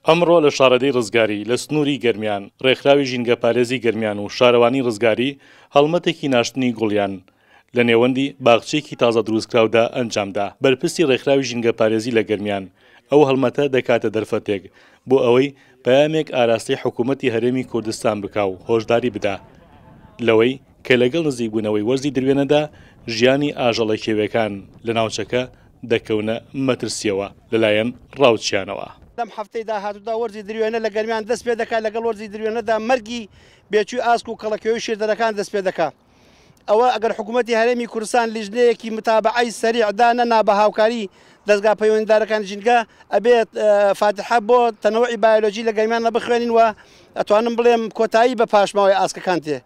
ئەمڕۆ لە شارەدێی ڕزگاری لە سنووری گەرمیان، ڕێکخراوی ژینگەپارێزی گەرمیان و شارەوانی ڕزگاری هەڵمەتێکی ناشتنی گوڵیان لە نێوەندی باخچەیەکی تازە دروستکراودا ئەنجامدا. بەرپرسی ڕێکخراوی ژینگەپارێزی لە گەرمیان ئەو هەڵمەتە دەکاتە دەرفەتێک بۆ ئەوەی پەیامێک ئاراستەی حکوومەتی هەرێمی کوردستان بکا و هۆشداری بدا لەوەی کە لەگەڵ نزیکبوونەوەی وەرزی دروێنەدا ژیانی ئاژەڵە کێویەکان لە ناوچەکە دەکەونە مەترسییەوە لەلایەن ڕاوچیانەوە. لەم هەفتەی داهاتوودا وەرزی دروێنە لە گەرمیان دەست پێ دەکات، لەگەڵ وەرزی دروێنەدا مەرگی بێچووی ئاسک و کەڵەکێوی شیردەرەکان دەست پێ دەکات. ئەوە ئەگەر حکوومەتی هەرێمی کوردستان لیژنەیەکی متابەعەی سەریع دانەنا بە هاوکاری دەزگا پەیوەندیدارەکانی ژینگە، ئەبێت فاتیحە بۆ تەنەوعی بایۆلۆجی لە گەرمیاندا بخوێنین و ئەتوانم بڵێم کۆتایی بە پاشماوەی ئاسکەکان تێ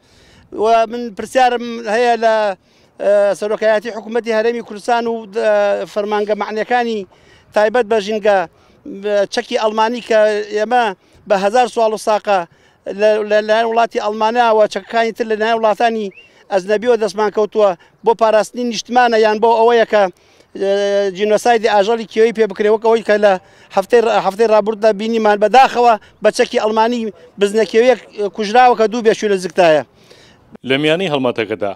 و من پرسیارم هەیە لە سەرۆکایەتی حکوومەتی هەرێمی کوردستان و فەرمانگە مەعنیەکانی تایبەت بە ژینگە چەکی ئەڵمانی کە ئێمە بە هەزار سواڵ و ساقە لەلایەن وڵاتی ئەڵمانیاوە چەکەکانی تر لەلایەن وڵاتانی ئەجنەبیەوە دەستمان کەوتووە بۆ پاراستنی نیشتمانە یان بۆ ئەوەیە کە جینۆسایدی ئاژەڵی کێوی پێ بکرێ وەک ئەوەی کە لە هەفتەی هەفتەی ڕابردوودا بینیمان بەداخەوە بە چەکی ئەڵمانی بزنە کێویەک کوژراوە کە دوو بێچوو لە زگتایە. لە میانەی هەڵمەتەکەدا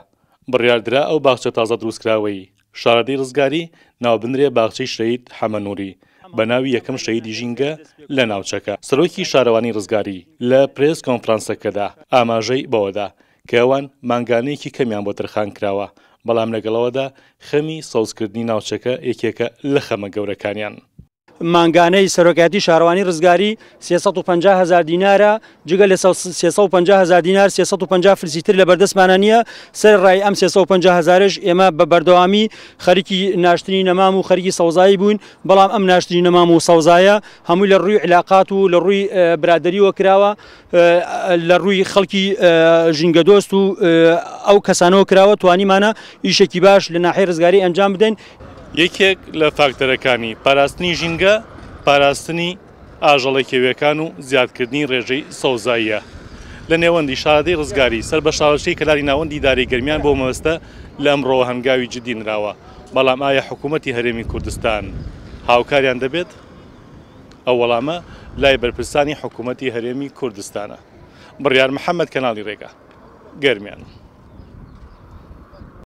بڕیاردرا ئەو باخچە تازە دروستکراوەی شارەدێی ڕزگاری ناوبنرێ باخچەی شەهید حەمە نوری بە ناوی یەکەم شەهیدی ژینگە لە ناوچەکە. سەرۆکی شارەوانی ڕزگاری لە پرێس کۆنفرانسەکەدا ئاماژەی بەوەدا کە ئەوان مانگانەیەکی کەمیان بۆ تەرخانکراوە، بەڵام لەگەڵ ئەوەدا خەمی سەوزکردنی ناوچەکە یەکێکە لە خەمە گەورەکانیان. مانگانەی سەرۆکایەتی شارەوانی ڕزگاری 350 هەزار دینارە، جگە لە 350 هەزار دینار 350 فلسی تر لە بەردەستمانە نییە، سەرەڕای ئەم 350 هەزارەش ئێمە بە بەردەوامی خەریکی ناشتنی نەمام و خەریکی سەوزایی بووین، بەڵام ئەم ناشتنی نەمام و سەوزایە هەمووی لە ڕووی عیلاقات و لە ڕووی برادەریەوە کراوە، لە ڕووی خەڵکی ژینگەدۆست و ئەو کەسانەوە کراوە، توانیمانە ئیشێکی باش لە ناحیەی ڕزگاری ئەنجام بدەین. یەکێک لە فاکتەرەکانی پاراستنی ژینگە، پاراستنی ئاژەڵە کێویەکان و زیادکردنی ڕێژەی سەوزاییە. لە نێوەندی شارەدێی ڕزگاری سەر بە شارۆچکەی کەلاری ناوەندی ئیدارەی گەرمیان بۆ مەبەستە لە ئەمڕۆوە هەنگاوی جدی نراوە، بەڵام ئایا حکوومەتی هەرێمی کوردستان هاوکاریان دەبێت؟ ئەو وەڵامە لای بەرپرسانی حکوومەتی هەرێمی کوردستانە. بڕیار محەمەد، کەناڵی ڕێگا، گەرمیان.